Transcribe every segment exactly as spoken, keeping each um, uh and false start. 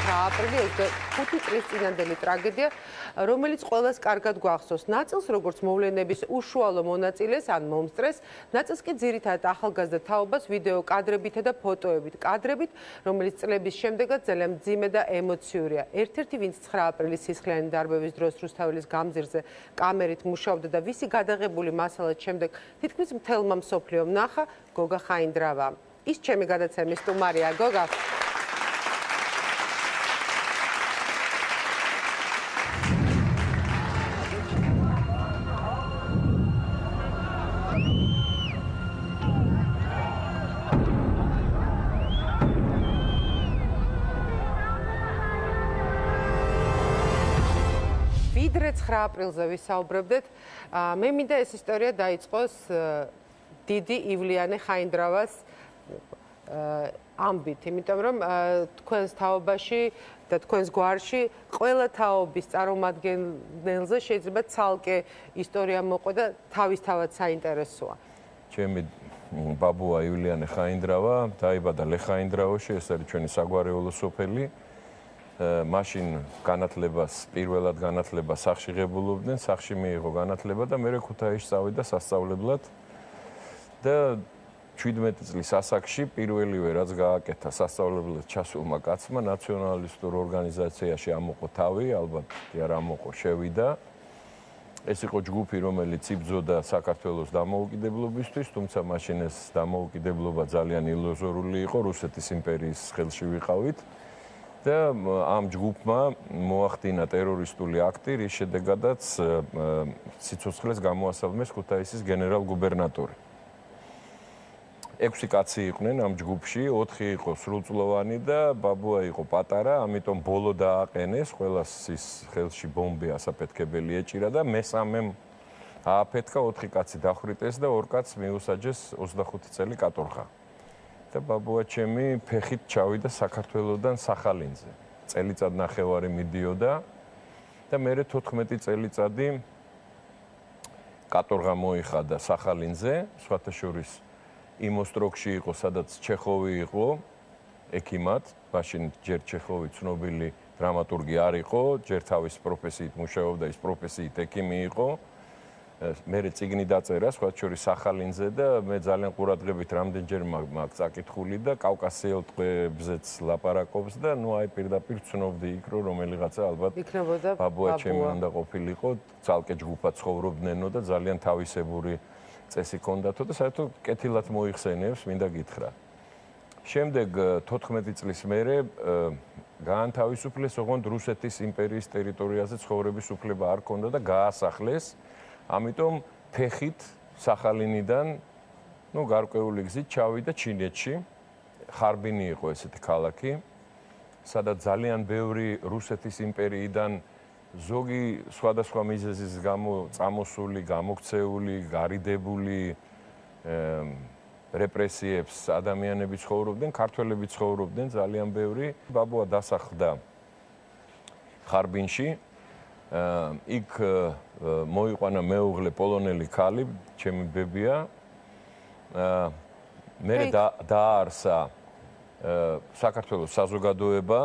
ცხრა აპრილი ოცდახუთი წლის წინანდელი ტრაგედია, რომელიც ყველას კარგად გვახსოვს. ნაწილს როგორც მოვლენების უშუალო მონაწილეს ან მომსწრეს, ნაწილს კი ძირითადად ახალგაზრდა თაობას ვიდეო კადრებითა და ფოტოებით, კადრებით, რომელიც წლების შემდეგაც ძალიან მძიმე და ემოციურია. ერთ-ერთი, ვინც ცხრა აპრილის სისხლიანი დარბევის დროს რუსთაველის გამზირზე კამერით მუშაობდა და ვისი გადაღებული მასალაც შემდეგ თითქმის მთელმა მსოფლიომ ნახა, გოგა ხაინდრავა. ის ჩემი გადაცემის სტუმარია, გოგა. ვიდრე ცხრა აპრილზე ვისაუბრებდეთ, მე მინდა ეს ისტორია დაიწყოს დიდი ივლიანე ხაინდრავას ამბით, იმიტომ რომ თქვენს თაობაში და თქვენს გვარში ყველა თაობის წარმომადგენელზე შეიძლება ცალკე ისტორია მოყვა და თავისთავად საინტერესოა. ჩემი ბაბუა ივლიანე ხაინდრავა დაიბადა ლეხაინდრავოში, ეს არის ჩვენი საგვარეულო სოფელი. მაშინ განათლებას, პირველად განათლებას სახში ღებულობდნენ, სახში მიიღო განათლება და მერე ქუთაისში წავიდა სასწავლებლად. და შვიდმეტი წლის ასაკში პირველივე რაც გააკეთა სასწავლებლად ჩასულმა კაცმა ნაციონალისტურ ორგანიზაციაში ამოყო თავი, ალბათ არ ამოყო, შევიდა. ეს იყო ჯგუფი, რომელიც იბრძოდა საქართველოს დამოუკიდებლობისთვის, თუმცა მაშინ ეს დამოუკიდებლობა ძალიან ილუზორული იყო, რუსეთის იმპერიის ხელში ვიყავით. და ამ ჯგუფმა მოახდინა ტერორისტული აქტი, რის შედეგადაც სიცოცხლეს გამოასალმეს ქუთაისის გენერალ-გუბერნატორი. ექვსი კაცი იყვნენ ამ ჯგუფში, ოთხი იყო სრულწლოვანი და ბაბუა იყო პატარა, ამიტომ ბოლო დააყენეს, ყველას ის ხელში ბომბი ასაფეთქებელი ეჭირა და მესამემ ააფეთქა, ოთხი კაცი დახვრიტეს და ორ კაცს მიუსაჯეს ოცდახუთი წელი კატორღა. და ბაბუა ჩემი ფეხით ჩავიდა საქართველოსდან სახალინზე. წელიწად ნახევარი მიდიოდა და მერე თოთხმეტი წელიწადი კატორღა მოიხადა სახალინზე, სხვათა შორის იმ ოსტროგში იყო, სადაც ჩეხოვი იყო, ექიმად, მაშინ ჯერ ჩეხოვი ცნობილი დრამატურგი არ იყო, ჯერ თავის პროფესიით მუშაობდა, ის პროფესიით ექიმი იყო. მერე წიგნი დაწერა, სხვათა შორის სახალინზე და მე ძალიან ყურადღებით რამდენჯერ მაგ წაკითხული და კავკასიელ ტყვეებზეც ლაპარაკობს და ნუ აი პირდაპირ ვცნობდი იქ, რომ რომელიღაცა ალბათ ბაბუა ჩემი უნდა ყოფილიყო, ცალკე ჯგუფად ცხოვრობდნენო და ძალიან თავისებური წესი ჰქონდათო და საერთოდ კეთილად მოიხსენიებს, მინდა გითხრა. შემდეგ თოთხმეტი წლის მერე გაანთავისუფლეს, ოღონდ რუსეთის იმპერიის ტერიტორიაზე ცხოვრების უფლება არ ჰქონდა და გაასახლეს. ამიტომ ფეხით სახალინიდან, ნუ გარკვეული გზით ჩავიდა ჩინეთში. ხარბინი იყო ესეთი ქალაქი, სადაც ძალიან ბევრი რუსეთის იმპერიიდან ზოგი სხვადასხვა მიზეზის გამო წამოსული, გამოქცეული, გარიდებული რეპრესიებს ადამიანები ცხოვრობდნენ, ქართველები ცხოვრობდნენ ძალიან ბევრი. ბაბუა დასახლდა ხარბინში. იქ მოიყვანა მეუღლე პოლონელი ქალი, ჩემი ბებია. მე დაარსა საქართველოს საზოგადოება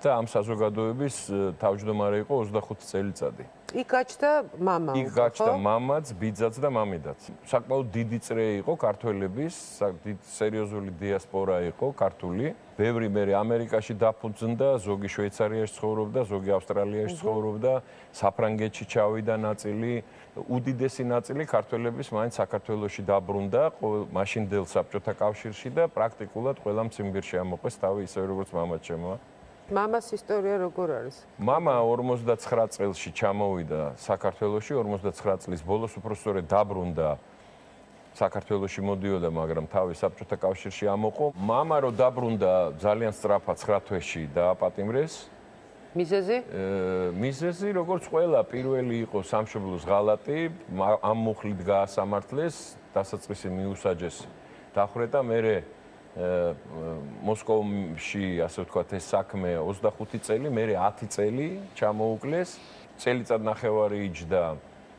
და ამ საზოგადოების თავმჯდომარე იყო ოცდახუთი წელიწადი. იქ გაჩნდა მამა. იქ გაჩნდა მამაც, ბიძაც და მამიდაც. საკმაოდ დიდი წრე იყო ქართველების, სერიოზული დიასპორა იყო ქართული. ბევრი მე ამერიკაში დაფუძნდა, ზოგი შვეიცარიაში ცხოვრობდა, ზოგი ავსტრალიაში ცხოვრობდა, საფრანგეთში ჩავიდა ნაწილი, უდიდესი ნაწილი ქართველების მაინც საქართველოში დაბრუნდა, მაშინდელ საბჭოთა კავშირში და პრაქტიკულად ყველა მციმბირში ამოყვეს თავი, ისე როგორც მამაც ჩემო. მამას ისტორია როგორ არის? მამა ორმოცდაცხრა წელში ჩამოვიდა საქართველოში, ორმოცდაცხრა წლის ბოლოს უпростоრე დაბრუნდა საქართველოში მოდიოდა, მაგრამ თავი საბჭოთა კავშირში ამოყო. მამა რო დაბრუნდა ძალიან სწრაფად ცხრა თვეში დააპატიმრეს. მიზეზი? მიზეზი როგორც ყველა პირველი იყო სამშობლოს ღალატი, ამ მუხლით გაასამართლეს, დასაწყისი მიუსაჯეს, დახვრეტა, მერე მოსკოვში, ასე ვთქვათ, ეს საქმე ოცდახუთი წელი, მერე ათი წელი ჩამოუკლეს, წელიწად ნახევარი იჯდა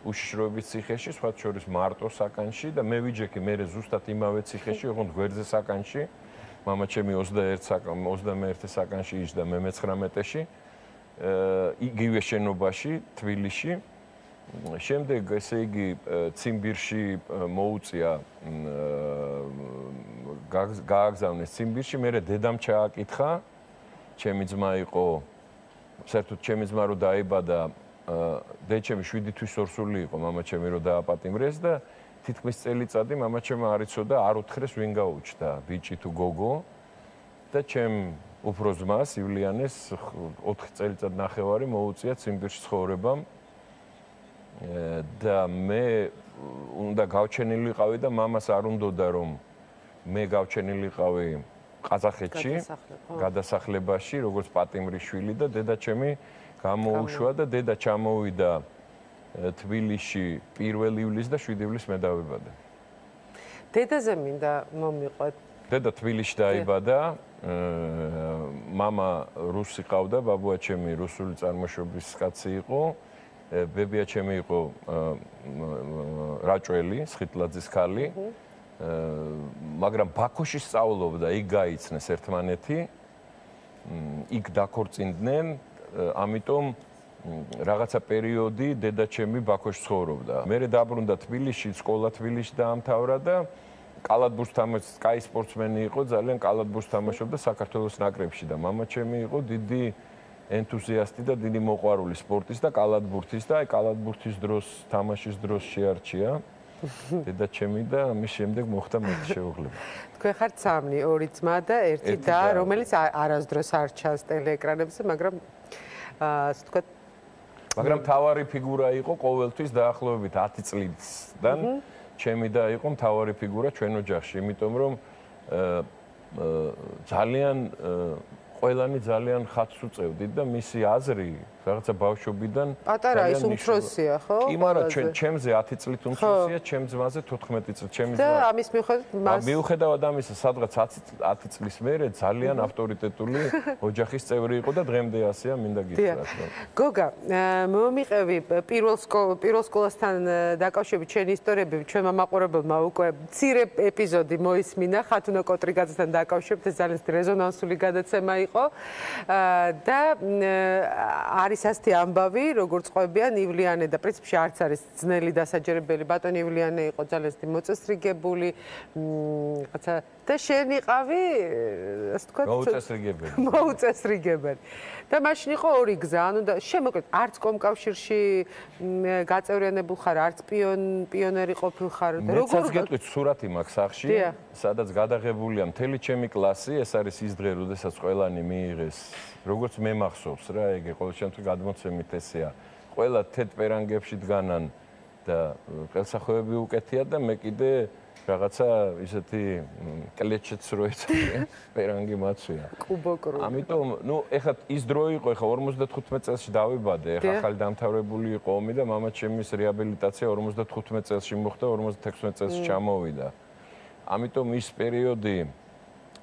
უშიშროების ციხეში, სხვათა შორის მარტო საკანში და მე ვიჯექი მერე ზუსტად იმავე ციხეში, ოღონდ გვერდზე საკანში მამაჩემი ოცდაერთე საკანში იჯდა მე მეცხრამეტეში. იგივე შენობაში, თბილისში. შემდეგ ესე იგი ციმბირში მოუწია გააგზავნეს ციმბირში, მერე დედამ ჩააკითხა, ჩემი ძმა იყო, საერთოდ ჩემი ძმა რო დაიბადა, დედჩემი შვიდი თვის ორსული იყო, მამაჩემი რო დააპატიმრეს და თითქმის წელიწადი მამაჩემი არ იცოდა, არ უთხრეს ვინ გაუჩნდა, ბიჭი თუ გოგო და ჩემ უფრო ძმას ივლიანეს ოთხი წელიწად ნახევარი მოუწია ციმბირში ცხოვრებამ და მე უნდა გავჩენილიყავი და მამას არ უნდოდა რომ მე გავჩენილიყავი ყაზახეთში გადასახლებაში როგორც პატიმრის შვილი და დედაჩემი გამოუშვა და დედა ჩამოვიდა თბილისში პირველ ივლისს და შვიდი ივლისს მე დავიბადე. დედაზე მინდა მომიყვეთ. დედა თბილისში დაიბადა, მამა რუსი ყავდა, ბაბუაჩემი რუსული წარმოშობის კაცი იყო, ბებიაჩემი იყო რაჭველი, სხიტლაძის ქალი, მაგრამ ბაქოში სწავლობდა, იქ გაიცნეს ერთმანეთი, იქ დაქორწინდნენ, ამიტომ რაღაცა პერიოდი დედაჩემი ბაქოში ცხოვრობდა. მერე დაბრუნდა თბილისში, სკოლა თბილისში დაამთავრა და კალათბურთს თამაშობს, კაი სპორტსმენი იყო, ძალიან კალათბურთს თამაშობდა საქართველოს ნაკრებში და მამაჩემი იყო დიდი ენთუზიასტი და დიდი მოყვარული სპორტის და კალათბურთის და აი კალათბურთის დროს, თამაშის დროს შეარჩია დედაჩემი და ამის შემდეგ მოხდა მეტი შეუღლება. თქვენ ხართ სამი, ორი ძმა და ერთი და, რომელიც არასდროს არ ჩანს ტელეეკრანებზე, მაგრამ ასე ვთქვათ, მაგრამ მთავარი ფიგურა იყო ყოველთვის დაახლოებით ათი წლიდან ჩემი და იყო მთავარი ფიგურა ჩვენ ოჯახში, იმიტომ რომ ძალიან ყველანი ძალიან ხათს უწევდით და მისი აზრი რაღაცა ბავშვობიდან პატარა ის უმცროსია, ხო? კი, მაგრამ ჩვენ ჩემზე ათი წლით უმცროსია, ჩემ ძმაზე თოთხმეტი წლით, ჩემი ძმა. და ამის მიუხედავად მას მიუხედავად ამისა, სადღაც ათი წლის მერე ძალიან ავტორიტეტული ოჯახის წევრი იყო და დღემდე ასეა, მინდა გითხრათ. გოგა, მომიყევი პირველ პირველ სკოლასთან დაკავშირებით ჩვენი ისტორიები, ჩვენმა მაყურებელმა უკვე მცირე ეპიზოდი მოისმინა ხათუნა კოტრიგაძესთან დაკავშირებით, ეს ძალიან რეზონანსული გადაცემა იყო და არის ასეთი ამბავი, როგორც ყვებიან ივლიანე და პრინციპში არც არის ძნელი დასაჯერებელი. ბატონი ივლიანე იყო ძალიან ისეთი მოწესრიგებული, რაღაცა და შენ იყავი, ასე ვთქვათ, მოუწესრიგებელი. მოუწესრიგებელი. და მაშინ იყო ორი გზა, ანუ და შემოკლედ არც კომკავშირში გაწევრიანებულ ხარ, არც პიონერი ყოფილ ხარ. როგორ გეტყვით, სურათი მაქვს სახში, სადაც გადაღებულია მთელი ჩემი კლასი, ეს არის ის დღე, როდესაც ყველანი მიიღეს, როგორც მე მახსოვს რა, ეგ ყოველ შემთხვევაში გადმოცემით ესეა. ყველა თეთ პერანგებში დგანან და ყელსახვევები უკეთია და მე კიდე რაღაცა ისეთი კლეჩეთს რო ეცადე, პერანგი მაცვია. კუბოკრუ. ამიტომ, ნუ, ეხლა ის დრო იყო, ეხლა ორმოცდათხუთმეტ წელსში დავიბადე, ეხლა ახალი დამთავრებული იყო ომი და მამაჩემის რეაბილიტაცია ორმოცდათხუთმეტ წელსში მოხდა, ორმოცდათექვსმეტ წელსში ჩამოვიდა. ამიტომ ის პერიოდი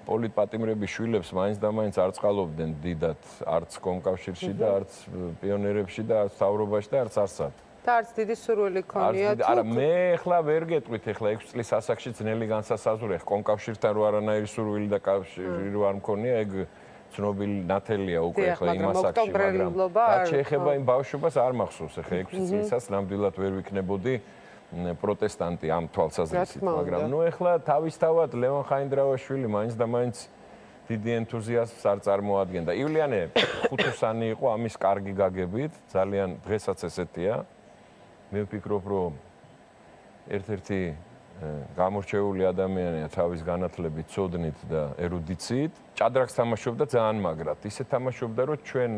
პოლიტპატიმრების შვილებს მაინც და მაინც არ წყალობდნენ დიდად, არც კომკავშირში და არც პიონერებში და არც თავრობაში და არც არსად. და არც დიდი სურვილი ქონია თუ არა, მე ახლა ვერ გეტყვით, ახლა ექვსი წლის ასაკში ძნელი განსასაზღვრია, კომკავშირთან რო არანაირი სურვილი და კავშირი რო არ მქონია, ეგ ცნობილი ნათელია უკვე ახლა იმ ასაკში, მაგრამ რაც შეეხება იმ ბავშვობას არ მახსოვს, ახლა ექვსი წლისას ნამდვილად ვერ ვიქნებოდი პროტესტანტი ამ თვალსაზრისით, მაგრამ ნუ ახლა თავისთავად ლევან ხაინდრავაშვილი მაინც და მაინც დიდი ენთუზიაზმს არ წარმოადგენდა. ივლიანე ხუთოსანი იყო ამის კარგი გაგებით, ძალიან დღესაც ესეთია. მე ვფიქრობ, რომ ერთ-ერთი გამორჩეული ადამიანია თავის განათლებით, ცოდნით და ერუდიციით. ჭადრაკს თამაშობდა ძალიან მაგრად. ისე თამაშობდა, რომ ჩვენ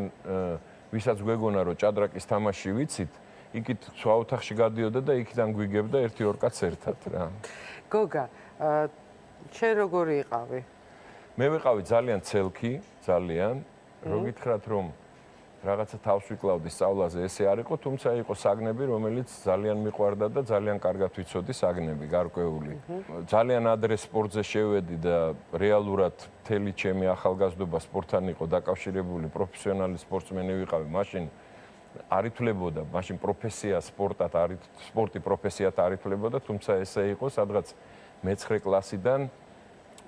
ვისაც გვეგონა, რომ ჭადრაკის თამაში ვიცით, იქით სხვა ოთახში გადიოდა და იქიდან გვიგებდა ერთი ორ კაცს ერთად რა. გოგა, შენ როგორი იყავი? მე ვიყავი ძალიან ცელქი, ძალიან. რო გითხრათ, რომ რაღაცა თავს ვიკლავდი სწავლაზე, ესე არ იყო, თუმცა იყო საგნები, რომელიც ძალიან მიყვარდა და ძალიან კარგად ვიცოდი საგნები, გარკვეული. ძალიან ადრე სპორტზე შევედი და რეალურად მთელი ჩემი ახალგაზრდობა სპორტთან იყო დაკავშირებული, პროფესიონალი სპორტსმენი ვიყავი, მაშინ არ ითვლებოდა, მაშინ პროფესია სპორტად არ სპორტი პროფესიად არ ითვლებოდა, თუმცა ესე იყო, სადღაც მეცხრე კლასიდან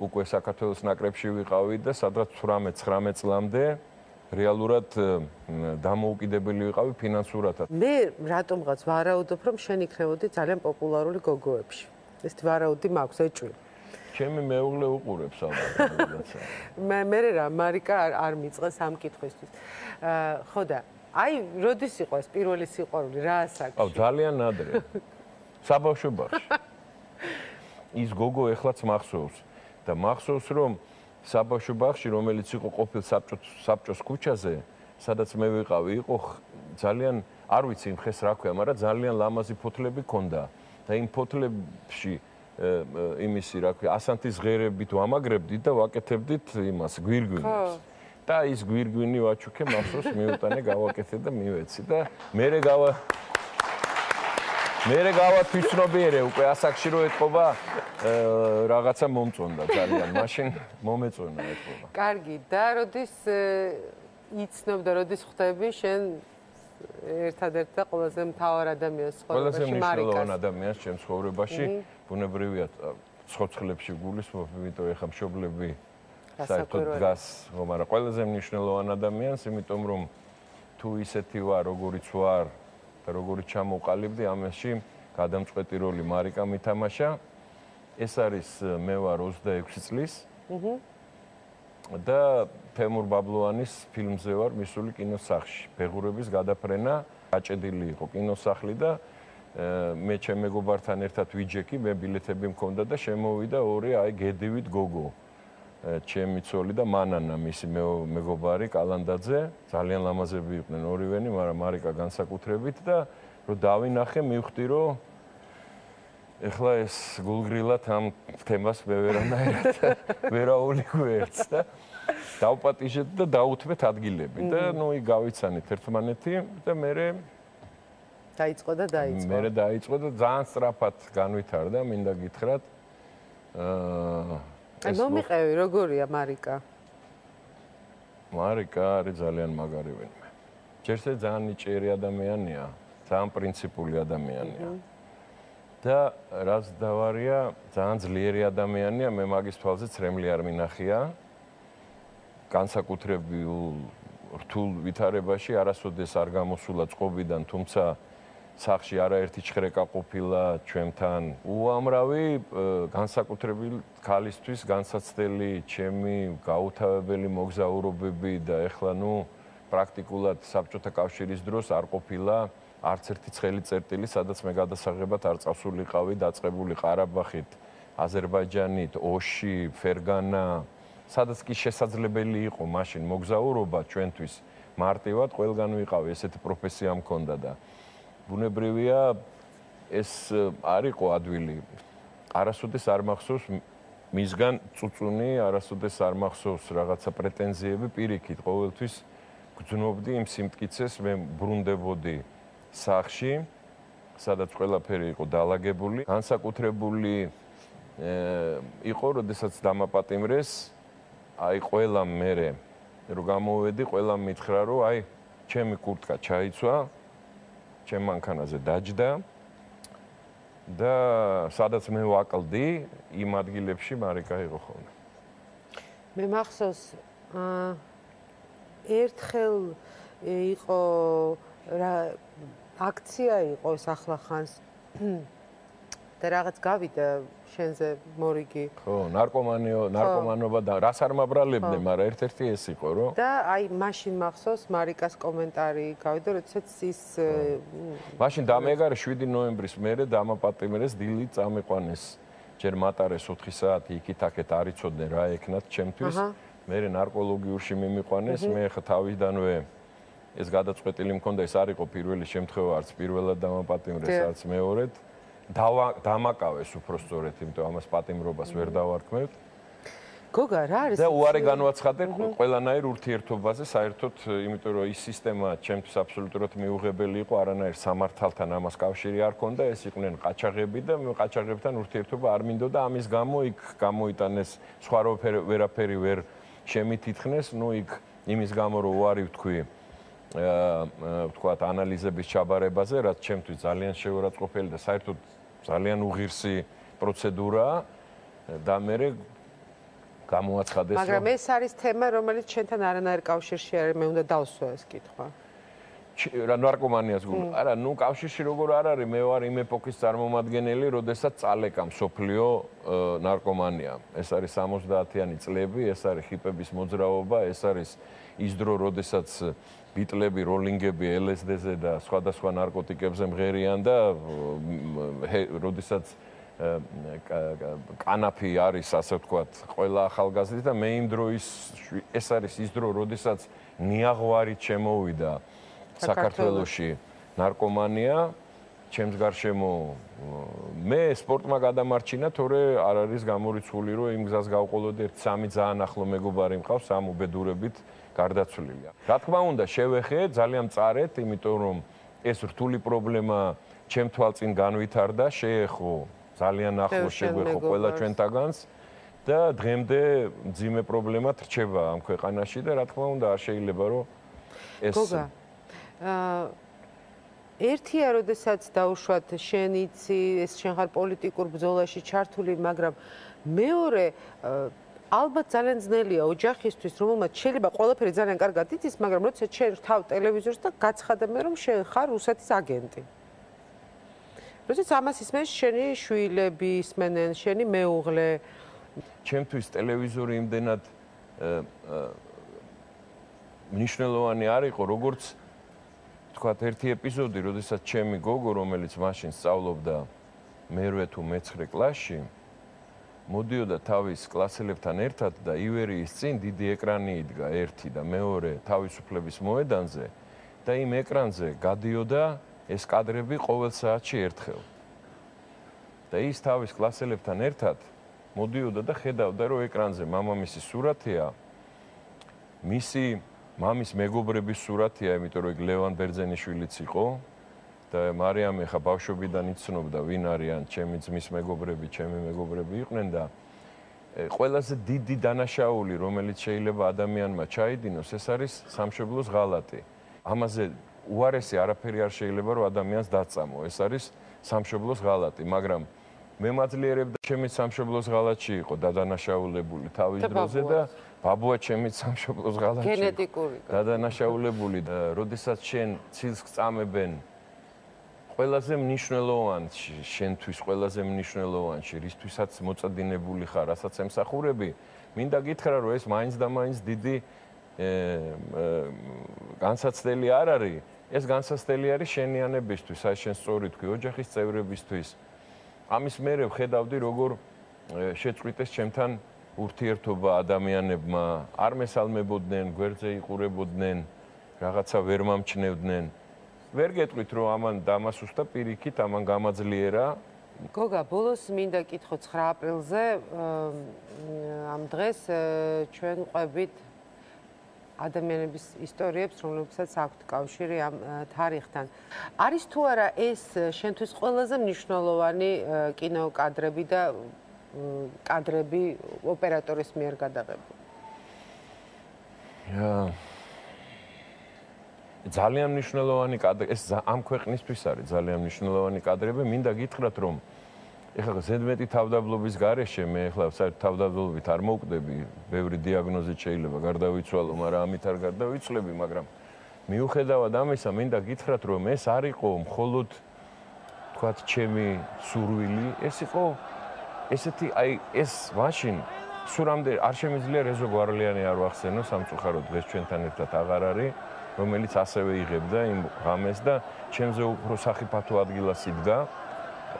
უკვე საქართველოს ნაკრებში ვიყავი და სადღაც ოცდაოთხ ცხრამეტ წლამდე რეალურად დამოუკიდებელი ვიყავი ფინანსურადაც. მე რატომღაც ვარაუდობ, რომ შენ იქნებოდი ძალიან პოპულარული გოგოებში. ეს ვარაუდი მაქვს, ეჭვი. ჩემი მეუღლე უყურებს ალბათ. მე მე რა მარიკა არ არ მიწყეს ამ კითხვისთვის. ხო და აი, როდის იყო ეს პირველი სიყვარული, რა ასაკში? აუ, ძალიან ადრე. საბავშვო ბაღში. ის გოგო ეხლაც მახსოვს და მახსოვს რომ საბავშვო ბაღში, რომელიც იყო ყოფილ საბჭოს ქუჩაზე, სადაც მე ვიყავი, იყო ძალიან, არ ვიცი იმ ხეს რა ქვია, მაგრამ ძალიან ლამაზი ფოთლები ჰქონდა და იმ ფოთლებში იმისი რა ქვია, ასანთის ღერებით ვამაგრებდით და ვაკეთებდით იმას გვირგვინს. და ის გვირგვინი ვაჩუქე, მახსოვს მიუტანე, გავაკეთე და მივეცი და მერე გავა მერე გავათვითცნობიერე უკვე ასაკში რო ეთყობა რაღაცა მომწონდა ძალიან, მაშინ მომეწონა ეთყობა. კარგი, და როდის იცნობ და როდის ხვდები შენ ერთადერთ და ყველაზე მთავარ ადამიანს ცხოვრებაში, მარიკას? ყველაზე მნიშვნელოვან ადამიანს ჩემს ცხოვრებაში, ბუნებრივია ცოცხლებში გულისხმობ, იმიტომ ეხა მშობლები საერთოდ დგას, მაგრამ ყველაზე მნიშვნელოვან ადამიანს, იმიტომ რომ თუ ისეთი ვარ, როგორიც ვარ და როგორიც ჩამოვყალიბდი, ამაში გადამწყვეტი როლი მარიკამ ითამაშა. ეს არის მე ვარ ოცდაექვსი წლის. და თემურ ბაბლუანის ფილმზე ვარ მისული კინოსახლში. ბეღურების გადაფრენა, გაჭედილი იყო კინოსახლი და მე ჩემ მეგობართან ერთად ვიჯექი, მე ბილეთები მქონდა და შემოვიდა ორი აი გედივით გოგო. ჩემი ცოლი და მანანა, მისი მეგობარი კალანდაძე, ძალიან ლამაზები იყვნენ ორივენი, მაგრამ მარიკა განსაკუთრებით და რომ დავინახე, მივხვდი, რომ ეხლა ეს გულგრილად ამ თემას მე ვერანაირად ვერაული გვერდს და დავპატიჟეთ და დაუთმეთ ადგილები და ნუ იქ გავიცანით ერთმანეთი და მე დაიწყო და დაიწყო. მე დაიწყო და ძალიან სწრაფად განვითარდა, მინდა გითხრათ. აა აი მომიყევი, როგორია მარიკა? მარიკა არის ძალიან მაგარი ვინმე. ჯერზე ძალიან ნიჭიერი ადამიანია, ძალიან პრინციპული ადამიანია. და რაც დავარია, ძალიან ძლიერი ადამიანია, მე მაგის თვალზე ცრემლი არ მინახია. განსაკუთრებულ რთულ ვითარებაში არასოდეს არ გამოსულა წყობიდან, თუმცა სახში არაერთი ჩხრეკა ყოფილა ჩვენთან. უამრავი განსაკუთრებულ ქალისთვის განსაცდელი ჩემი გაუთავებელი მოგზაურობები და ეხლა ნუ პრაქტიკულად საბჭოთა კავშირის დროს არ ყოფილა არც ერთი ცხელი წერტილი, სადაც მე გადასაღებად არ წავსულიყავი, დაწყებული ყარაბაღით, აზერბაიჯანით, ოში, ფერგანა, სადაც კი შესაძლებელი იყო მაშინ მოგზაურობა ჩვენთვის მარტივად ყველგან ვიყავი, ესეთი პროფესია მქონდა და ბუნებრივია ეს არ იყო ადვილი. არასოდეს არ მახსოვს მისგან წუწუნი, არასოდეს არ მახსოვს რაღაცა პრეტენზიები, პირიქით, ყოველთვის გძნობდი იმ სიმტკიცეს, მე ბრუნდებოდი სახში, სადაც ყველაფერი იყო დალაგებული. განსაკუთრებული იყო, როდესაც დამაპატიმრეს, აი ყველა მერე რომ გამოვედი, ყველა მითხრა, რომ აი ჩემი კურტკა ჩაიცვა, ჩემ მანქანაზე დაჯდა და სადაც მე ვაკლდი, იმ ადგილებში მარიკა იყო ხოლმე. მე მახსოვს ერთხელ იყო რა აქცია იყო ახლახანს და რაღაც გავიდა შენზე მორიგი. ხო, ნარკომანიო, ნარკომანობა და რას არ მაბრალებდნენ, მაგრამ ერთ-ერთი ეს იყო, რომ და აი მაშინ მახსოვს მარიკას კომენტარი გავიდა, როდესაც ის მაშინ დამეგარე შვიდი ნოემბრის მერე დამაპატიმრეს, დილით წამიყვანეს, ჯერ მატარეს ოთხი საათი იქით-აქეთ არ იცოდნენ რა ეკნათ ჩემთვის. მერე ნარკოლოგიურში მიმიყვანეს, მე ხა თავიდანვე ეს გადაწყვეტილი მქონდა, ეს არ იყო პირველი შემთხვევა, არც პირველად დამაპატიმრეს, არც მეორედ. დამაკავეს უпростоრეთ, იმიტომ ამას პატიმრობას ვერ დავარქმევთ. გოგა, რა არის? და უარი განვაცხადე ყველანაირ ურთიერთობაზე, საერთოდ, იმიტომ რომ ის სისტემა ჩემთვის აბსოლუტურად მიუღებელი იყო, არანაირ სამართალთან ამას კავშირი არ ჰქონდა, ეს იყვნენ ყაჩაღები და მე ყაჩაღებთან ურთიერთობა არ მინდოდა, ამის გამო იქ გამოიტანეს სხვა ვერაფერი ვერ შემითითხნეს, ნუ იქ იმის გამო რომ უარი ვთქვი აა ვთქვათ ანალიზების ჩაბარებაზე, რაც ჩემთვის ძალიან შეურაცხყოფელი და საერთოდ ძალიან უღირსი პროცედურაა და მე გამოაცხადეს. მაგრამ ეს არის თემა, რომელიც ჩვენთან არანაირ კავშირში არ არის, მე უნდა დავსვა ეს კითხვა. რა ნარკომანიას გულ. არა, ნუ კავშირში როგორ არ არის, მე ვარ იმ ეპოქის წარმომადგენელი, როდესაც წალეკა მსოფლიო ნარკომანია. ეს არის სამოცდაათიანი წლები, ეს არის ჰიპების მოძრაობა, ეს არის ის დრო, როდესაც ბიტლები, როლინგები, ელ ეს დი-ზე და სხვადასხვა ნარკოტიკებზე მღერიან და როდესაც კანაფი არის, ასე ვთქვათ, ყველა ახალგაზრდა და მე იმ დროის ეს არის ის დრო, როდესაც ნიაღვარით შემოვიდა საქართველოში ნარკომანია, ჩემს გარშემო მე სპორტმა გადამარჩინა, თორე არ არის გამორიცხული, რომ იმ გზას გავყოლოდი ერთ სამი ძალიან ახლო მეგობარი მყავს, სამ უბედურებით გარდაცვლილია. რა თქმა უნდა, შევეხე, ძალიან მწარეთ, იმიტომ რომ ეს რთული პრობლემა ჩემ თვალწინ განვითარდა, შეეხო ძალიან ახლო შეგვეხო ყველა ჩვენთაგანს და დღემდე მძიმე პრობლემად რჩება ამ ქვეყანაში და რა თქმა უნდა, არ შეიძლება რომ ეს გოგა აა ერთია, როდესაც დაუშვათ შენიცი, ეს შენ ხარ პოლიტიკურ ბრძოლაში ჩართული, მაგრამ მეორე ალბათ ძალიან ძნელია ოჯახისთვის, რომელმაც შეიძლება ყველაფერი ძალიან კარგად იცის, მაგრამ როცა შენ რთავ ტელევიზორს და გაცხადებ, რომ შენ ხარ რუსეთის აგენტი. როდესაც ამას ისმენს შენი შვილები, ისმენენ შენი მეუღლე. ჩემთვის ტელევიზორი იმდენად მნიშვნელოვანი არ იყო, როგორც თქვათ ერთი ეპიზოდი, როდესაც ჩემი გოგო, რომელიც მაშინ სწავლობდა მერვე თუ მეცხრე კლასში, მოდიოდა თავის კლასელებთან ერთად და ივერიის წინ დიდი ეკრანი იდგა ერთი და მეორე თავისუფლების მოედანზე და იმ ეკრანზე გადიოდა ეს კადრები ყოველ საათში ერთხელ. და ის თავის კლასელებთან ერთად მოდიოდა და ხედავდა, რომ ეკრანზე მამამისის სურათია, მისი მამის მეგობრების სურათია, იმიტომ რომ ლევან ბერძენიშვილიც იყო და მარიამი ხა ბავშვობიდან იცნობდა, ვინ არიან ჩემი ძმის მეგობრები, ჩემი მეგობრები იყვნენ და ყველაზე დიდი დანაშაული, რომელიც შეიძლება ადამიანმა ჩაიდინოს, ეს არის სამშობლოს ღალატი. ამაზე უარესი არაფერი არ შეიძლება რომ ადამიანს დაწამო. ეს არის სამშობლოს ღალატი, მაგრამ მე მაძლიერებდა ჩემი სამშობლოს ღალატში იყო დადანაშაულებული თავის დროზე და ბაბუა ჩემი სამშობლოს ღალატში გენეტიკური დადანაშაულებული და როდესაც შენ ცილს გწამებენ ყველაზე მნიშვნელოვანში, შენთვის ყველაზე მნიშვნელოვანში, რისთვისაც მოწადინებული ხარ, რასაც ემსახურები, მინდა გითხრა, რომ ეს მაინც და მაინც დიდი განსაცდელი არ არის. ეს განსაცდელი არის შენიანებისთვის, აი შენ სწორი თქვი, ოჯახის წევრებისთვის. ამის მერე ვხედავდი, როგორ შეწყვიტეს ჩემთან ურთიერთობა ადამიანებმა, არ მესალმებოდნენ, გვერდზე იყურებოდნენ, რაღაცა ვერ მომჩნევდნენ. ვერ გეტყვით, რომ ამან დამასუსტა პირიქით, ამან გამაძლიერა. გოგა, ბოლოს მინდა კითხო ცხრა აპრილზე ამ დღეს ჩვენ ყვებით ადამიანების ისტორიებს, რომლებსაც აქვთ კავშირი ამ თარიღთან. არის თუ არა ეს შენთვის ყველაზე მნიშვნელოვანი კინოკადრები და კადრები ოპერატორის მიერ გადაღებული? ძალიან მნიშვნელოვანი კადრები, ეს ამ ქვეყნისთვის არის ძალიან მნიშვნელოვანი კადრები. მინდა გითხრათ, რომ ეხლა ზედმეტი თავდაბლობის გარეშე მე ეხლა საერთოდ თავდაბლობით არ მოვკვდები, ბევრი დიაგნოზით შეიძლება გარდავიცვალო, მაგრამ ამით არ გარდავიცვლები, მაგრამ მიუხედავად ამისა, მინდა გითხრათ, რომ ეს არ იყო მხოლოდ თქვათ ჩემი სურვილი, ეს იყო ესეთი აი ეს მაშინ სურამდე არ შემიძლია რეზო გვარლიანი არ ვახსენო, სამწუხაროდ დღეს ჩვენთან ერთად აღარ არის, რომელიც ასევე იღებდა იმ ღამეს და ჩემზე უფრო სახიფათო ადგილას იდგა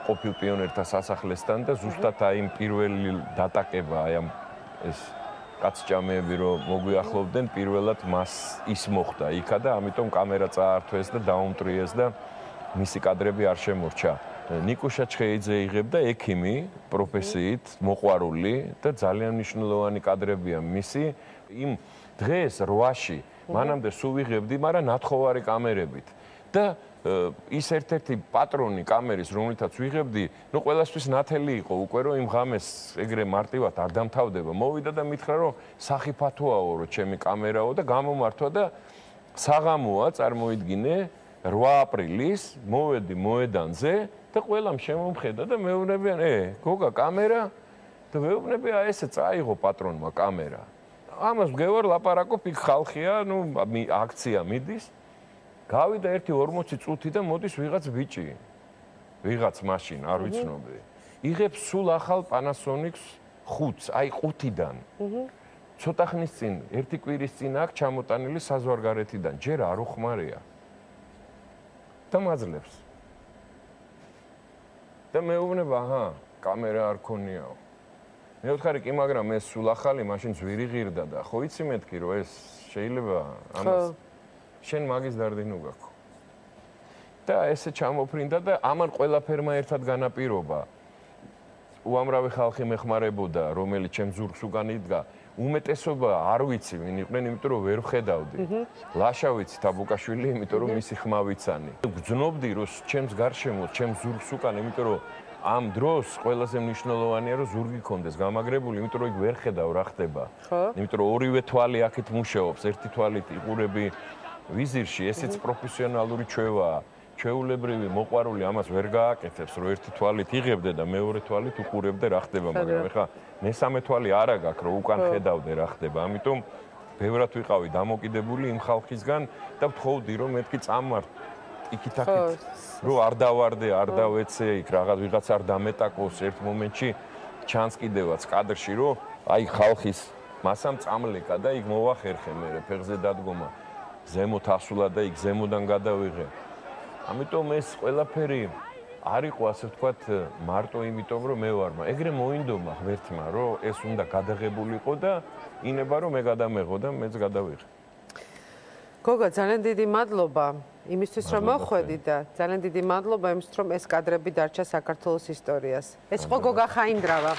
ყოფილ პიონერთა სასახლესთან და ზუსტად აი იმ პირველი დატაკება, აი ამ ეს კაცჭამეები რომ მოგვიახლოვდნენ, პირველად მას ის მოხდა იქა და ამიტომ კამერა წაართვეს და დაუმტრიეს და მისი კადრები არ შემორჩა. ნიკუშა ჩხეიძე იღებდა ექიმი პროფესიით, მოყვარული და ძალიან მნიშვნელოვანი კადრებია მისი იმ დღეს რვაში მანამდე სულ ვიღებდი, მაგრამ ნათხოვარი კამერებით და ის ერთ-ერთი პატრონი კამერის, რომლითაც ვიღებდი, ნუ ყველასთვის ნათელი იყო უკვე, რომ იმ ღამეს ეგრე მარტივად არ დამთავრდება. მოვიდა და მითხრა, რომ სახიფათოაო, რომ ჩემი კამერაო და გამომართვა და საღამოა წარმოიდგინე რვა აპრილის, მოვედი მოედანზე და ყველამ შემომხედა და მეუბნებიან, ე, გოგა, კამერა და ვეუბნები აი ესე წაიღო პატრონმა კამერა. ამას ვგევარ ლაპარაკობ, იქ ხალხია, ნუ აქცია მიდის. გავიდა ერთი ორმოცი წუთი და მოდის ვიღაც ბიჭი. ვიღაც მაშინ, არ ვიცნობი. იღებს სულ ახალ Panasonic-ს ხუთს, აი ხუთიდან. ცოტა ხნის წინ, ერთი კვირის წინ აქ ჩამოტანილი საზღვარგარეთიდან, ჯერ არ უხმარია. და მაძლევს. და მეუბნება, აჰა, კამერა არ ქონიაო. მე ვთხარი კი, მაგრამ ეს სულ ახალი, მაშინ ძვირი ღირდა და ხო იცი მეთქი, რომ ეს შეიძლება ამას შენ მაგის დარდინო გაქვს. და ესე ჩამოფრინდა და ამან ყველაფერმა ერთად განაპირობა. უამრავი ხალხი მეხმარებოდა, რომელიც ჩემ ზურგს უკან იდგა. უმეტესობა არ ვიცი ვინ იყვნენ, იმიტომ რომ ვერ ვხედავდი. ლაშა ვიცი თაბუკაშვილი, იმიტომ რომ მისი ხმა ვიცანი. გძნობდი რომ ჩემს გარშემო, ჩემს ზურგს უკან, იმიტომ რომ ამ დროს ყველაზე მნიშვნელოვანია რომ ზურგი კონდეს გამაგრებული, იმიტომ რომ იქ ვერ ხედავ რა ხდება. იმიტომ რომ ორივე თვალი აქეთ მუშაობს, ერთი თვალით იყურები ვიზირში, ესეც პროფესიონალური ჩვევაა. ჩვეულებრივი მოყვარული ამას ვერ გააკეთებს, რომ ერთი თვალით იღებდე და მეორე თვალით უყურებდე რა ხდება, მაგრამ ეხლა მესამე თვალი არა გაქვს, რომ უკან ხედავდე რა ხდება. ამიტომ ბევრად ვიყავი დამოკიდებული იმ ხალხისგან და ვთხოვდი, რომ მეთქი წამვარ იქით-აქით, რომ არ დავარდე, არ დავეცე, იქ რაღაც ვიღაც არ დამეტაკოს ერთ მომენტში ჩანს კიდევაც კადრში, რომ აი ხალხის მასამ წამლეკა და იქ მოვახერხე მე ფეხზე დადგომა, ზემოთ ასულა და იქ ზემოდან გადავიღე. ამიტომ ეს ყველაფერი არ იყო ასე ვთქვათ მარტო იმიტომ რომ მე ვარ, ეგრე მოინდომა ღმერთმა რომ ეს უნდა გადაღებულიყო და ინება რომ მე გადამეღო და მეც გადავიღე. გოგო, ძალიან დიდი მადლობა იმისთვის რომ მოხვედი და ძალიან დიდი მადლობა იმისთვის რომ ეს კადრები დარჩა საქართველოს ისტორიას. ეს იყო გოგა ხაინდრავა.